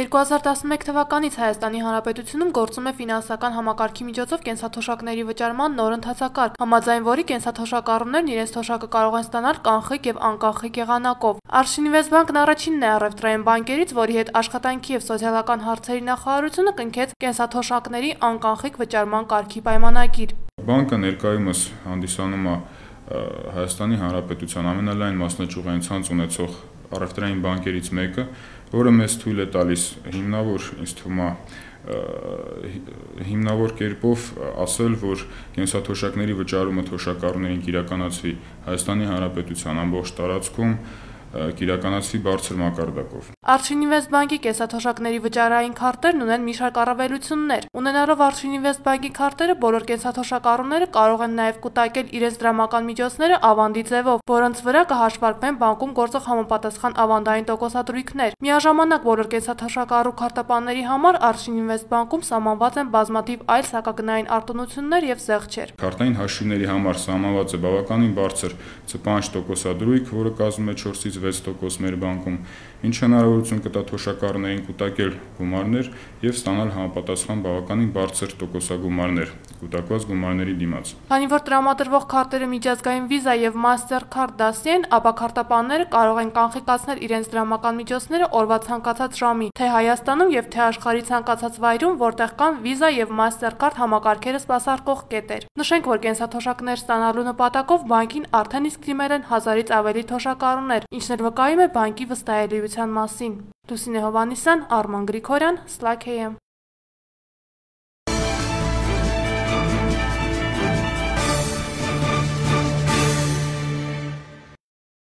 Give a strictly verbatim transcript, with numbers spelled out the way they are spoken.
երկու հազար տասնմեկ թվականից Հայաստանի Հանրապետությունում գործում է ֆինանսական համակարգի միջոցով կենսաթոշակների վճարման նոր ընթացակարգ, համաձայն որի կենսաթոշակառուներն իրենց թոշակը կարող են ստանալ կանխիկ և անկանխիկ եղանակով։ Արշինվեստբանկն առաջինն է առևտրային բանկերից, որի հետ աշխատանքի և սոցիալական հարցերի նախարարությունը կնքեց կենսաթոշակների անկանխիկ վճարման կարգի պայմանագիր։ Բանկը ներկայումս հանդիսանում է Հայաստանի Հանրապետության ամենալայն մասնաճյուղային ցանց ունեցող առևտրային բանկերից մեկը, որը մեզ թույլ է տալիս հիմնավոր, ինձ թվում է, հիմնավոր կերպով ասել, որ կենսաթոշակների վճարումը թոշակառուներին կիրականացվի Հայաստանի Հանրապետության ամբողջ տարածքում, կիրականացվի բարձր մակարդակով։ Արշինվեստբանկի կենսաթոշակների վճարային քարտերն ունեն մի շարք առավելություններ։ Ունենալով Արշինվեստբանկի քարտերը, բոլոր կենսաթոշակառուները կարող են նաև կուտակել իրենց դրամական միջոցները ավանդի ձևով, որոնց վրա կհաշվարկվեն բանկում գործող համապատասխան ավանդային տոկոսադրույքներ։ Միաժամանակ բոլոր կենսաթոշակառու քարտապանների համար Արշինվեստբանկում սահմանված են բազմաթիվ այլ սահմագնային արտոնություններ և զեղչեր։ Քարտային հաշիվների համար սահմանված է բավականին բարձր ցպանջ տոկոսադրույք, որը կազմում է չորսից վեց տոկոս մեր բանկում, ինչը հնարավորություն կտա թոշակառուներին կուտակել գումարներ և ստանալ համապատասխան բավականին բարձր տոկոսագումարներ կուտակված գումարների դիմաց։ Քանի որ տրամադրվող քարտերը միջազգային Visa և Mastercard դասի են, ապա քարտապանները կարող են կանխիկացնել իրենց դրամական միջոցները օրվա ցանկացած ժամի, թե Հայաստանում և թե աշխարհի ցանկացած վայրում, որտեղ կան Visa և Mastercard համակարգերը սպասարկող կետեր։ Նշենք, որ կենսաթոշակներ ստանալու նպատակով բանկին արդեն իսկ դիմել են հազարից ավելի թոշակառուներ, ինչն էլ վկայում է բանկի վստահելիության մասին։ Լուսինե Հովհաննիսյան, Արման Գրիգորյան, Slack A M։